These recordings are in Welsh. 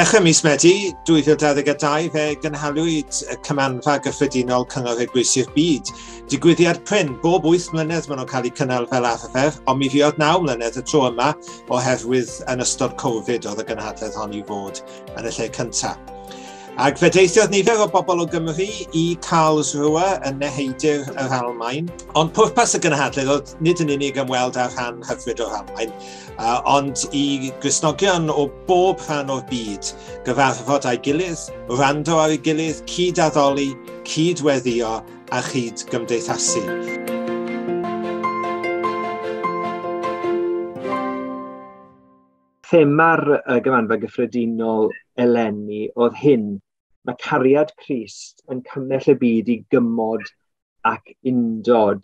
Ddechrau mis Medi 2022 fe gynhaliwyd y Cymanfa Gyffredinol Cyngor Eglwysi'r Byd. Digwyddiad prin, bob 8 mlynedd maen nhw'n cael eu cynnal fel arfer, ond mi fuodd 9 mlynedd y tro yma oherwydd yn ystod Covid oedd y gynhadledd hon i fod yn y lle cyntaf. Ac fe deithiodd nifer o bobl o Gymru i Karlsruhe yn Neheudir yr Almaen. Ond pwrpas y gynhadledd oedd nid yn unig ymweld â rhan hyfryd o'r Almaen, ond i Gristnogion o bob rhan o'r byd gyfarfod â'i gilydd, wrando ar ei gilydd, cyd-addoli, cyd-weddïo a chyd-gymdeithasu. Thema'r Gymanfa Gyffredinol eleni oedd hyn: mae cariad Crist yn cymell y byd i gymod ac undod.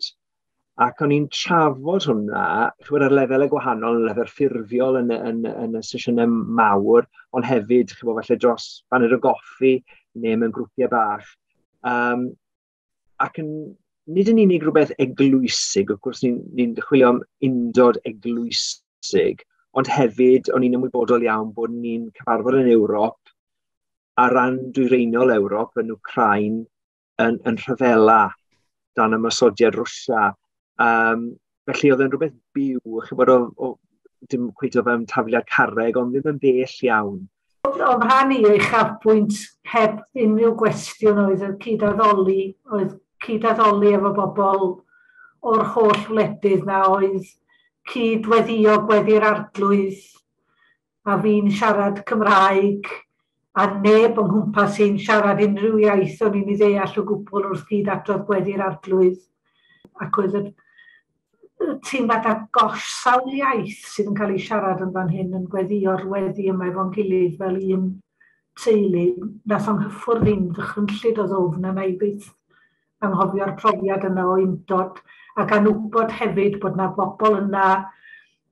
Ac o'n i'n trafod hwnna, ch'mod, ar lefelau gwahanol, yn lefel ffurfiol yn y sesiynau mawr, ond hefyd, ch'mod, falle dros baned o goffi neu mewn grwpiau bach. Ac yn, nid yn unig rhywbeth eglwysig, wrth gwrs ni'n chwilio am undod eglwysig, ond hefyd o'n i'n ymwybodol iawn bod ni'n cyfarfod yn Ewrop, ar ran dwyreiniol Ewrop, yn Wcráin, yn rhyfela dan ymosodiad Rwsia. Felly oedd e'n rhywbeth byw, ch'mod, o dim cweit o fewn tafliad carreg, ond ddim yn bell iawn. O'm rhan i, uchafbwynt heb unrhyw gwestiwn oedd y cyd-addoli, oedd cyd-addoli efo bobl o'r holl wledydd na, oedd cyd-weddio gweddi'r Arglwydd, a fi'n siarad Cymraeg, a neb o'n nghwmpas i'n siarad unrhyw iaith o'n i'n ei ddeall o gwbl wrth gyd-adrodd gweddi'r Arglwydd. Ac oedd y teimlad a gosh, sawl iaith sydd yn cael ei siarad yn fan hyn yn gweddïo'r weddi yma efo'n gilydd fel un teulu. Nath o'n hyffwrdd i'n ddychrynllyd o ddwfn, a na i byth anghofio'r profiad yna o undod, ac anwybod hefyd bod na bobl yna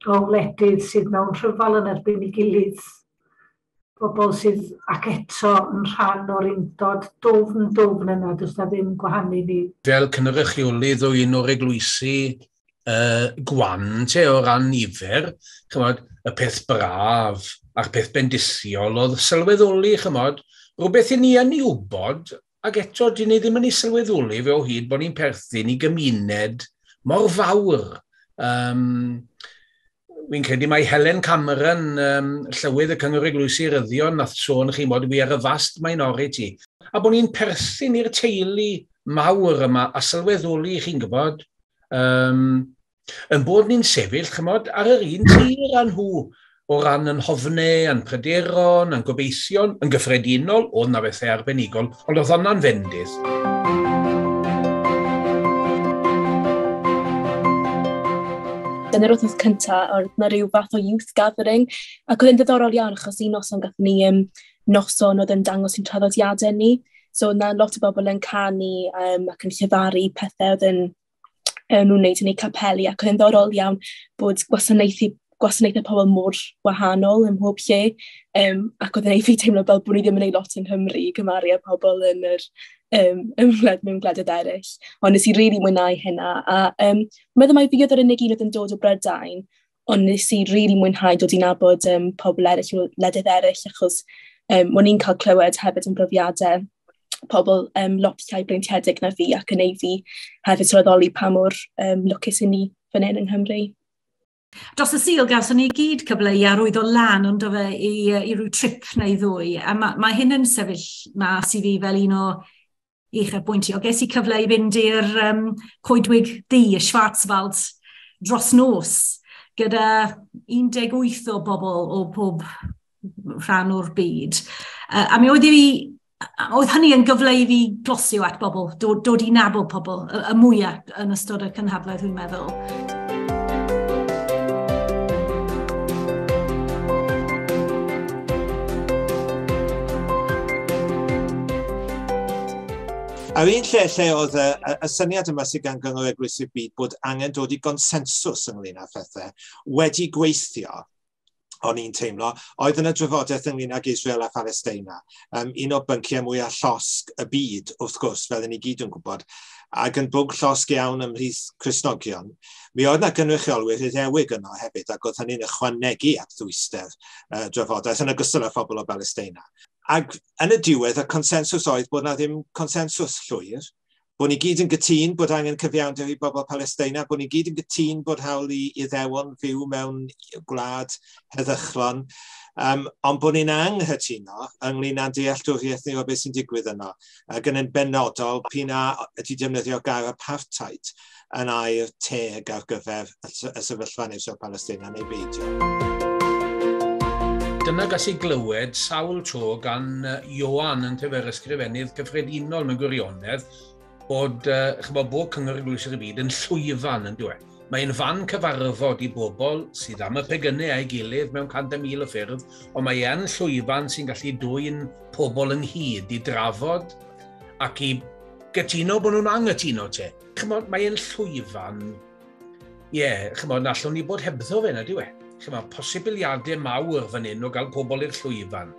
o wledydd sydd mewn rhyfel yn erbyn ei gilydd, bobl sydd ac eto yn rhan o'r undod dwfn dwfn yna, does na ddim gwahanu ni. Fel cynrychiolydd o un o'r eglwysi gwan te o ran nifer, chymod, y peth braf a'r peth bendithiol oedd sylweddoli, chymod, rhywbeth i ni yn ei wybod, ac eto dyn ni ddim yn ei sylweddoli fe o hyd bod ni'n perthyn i gymuned mor fawr. Wi'n credu mai Helen Cameron, llywydd y Cyngor Eglwysi Rhyddion, nath sôn chi mod we are a vast minority. A bod ni'n perthyn i'r teulu mawr yma a sylweddoli, chi'n gwybod, yn bod ni'n sefyll, chymod, ar yr un tir â nhw, o ran yn hofnau, yn pryderon, yn gobeithion, yn gyffredinol, oedd na bethau arbenigol, ond oedd hwnna'n fendith. Yn yr wythnos cyntaf, oedd na rhyw fath o youth gathering, ac oedd e'n ddiddorol iawn, achos un noson gathon ni noson oedd yn dangos i'n traddodiadau ni. So oedd na lot o bobl yn canu ac yn llefaru pethau oedd yn nhw'n wneud yn eu capeli, ac oedd e'n ddiddorol iawn bod gwasanaethau pobl mor wahanol ym mhob lle, ac oedd e'n ei fi teimlo fel bod ni ddim yn ei lot yng Nghymru i gymharu â pobl yn yr mewn gwledydd eraill. Ond nes i rili mwynhau hynna, a meddwl mai fi oedd yr unig un oedd yn dod o Brydain, ond nes i rili mwynhau dod i nabod pobl eraill o wledydd eraill, achos o'n i'n cael clywed hefyd yn brofiadau pobl lot llai breintiedig na fi, ac yn ei fi hefyd sylweddoli pa mor lwcus i ni fan hyn yng Nghymru. Dros y Sul gawson ni gyd cyfle i arwyddo lan, ond fe i ryw trip neu ddwy, a mae hyn yn sefyll mas i fi fel un o uchafbwyntiau. Ges i cyfle i fynd i'r Coedwig Ddu, y Schwarzwald, dros nos, gyda 18 o bobl o pob rhan o'r byd. A mi oedd oedd hynny yn gyfle i fi glosio at bobl, dod i nabod pobl, y mwyaf yn ystod y cynhadledd, dwi'n meddwl. A'r un lle oedd y syniad yma sydd gan Gyngor Eglwysi'r Byd bod angen dod i gonsensws ynglyn â phethau wedi gweithio, O'n i'n teimlo, oedd yna drafodaeth ynglyn ag Israel a Palestina. Un o bynciau mwyaf llosg y byd, wrth gwrs, fel ni gyd yn gwybod, ac yn bwnc llosg iawn ymhlith Cristnogion. Mi oedd yna gynrychiolwyr Iddewig yno hefyd, ac oedd hynny'n ychwanegu at ddwyster drafodaeth, yn ogystal â phobl o Palestina. Ac yn y diwedd, y consensws oedd bod na ddim consensws llwyr, bod ni gyd yn gytûn bod angen cyfiawnder i bobl Palestina, bod ni gyd yn gytûn bod hawl i Iddewon fyw mewn gwlad heddychlon, ond bod ni'n anghytuno ynglyn â'n dealltwriaeth ni o beth sy'n digwydd yno, ac yn benodol p'un a ydy defnyddio gair apartheid yn air teg ar gyfer y sefyllfa yn Israel Palestina neu beidio. Dyna gas i glywed sawl tro gan Ioan yn tyfer ysgrifennydd cyffredinol mewn gwirionedd, bod, chymod, bod Cyngor Eglwysi'r Byd yn llwyfan yn dweud. Mae'n fan cyfarfod i bobl sydd am y pegynnau a'i gilydd mewn 100,000 o ffyrdd, ond mae e'n llwyfan sy'n gallu dwyn pobl ynghyd i drafod ac i gytuno bod nhw'n anghytuno te. Chymod, mae'n llwyfan, ie, yeah, chymod, na allwn ni bod hebddo fe na, diwe. Chymod, posibiliadau mawr fan hyn o gael pobl i'r llwyfan.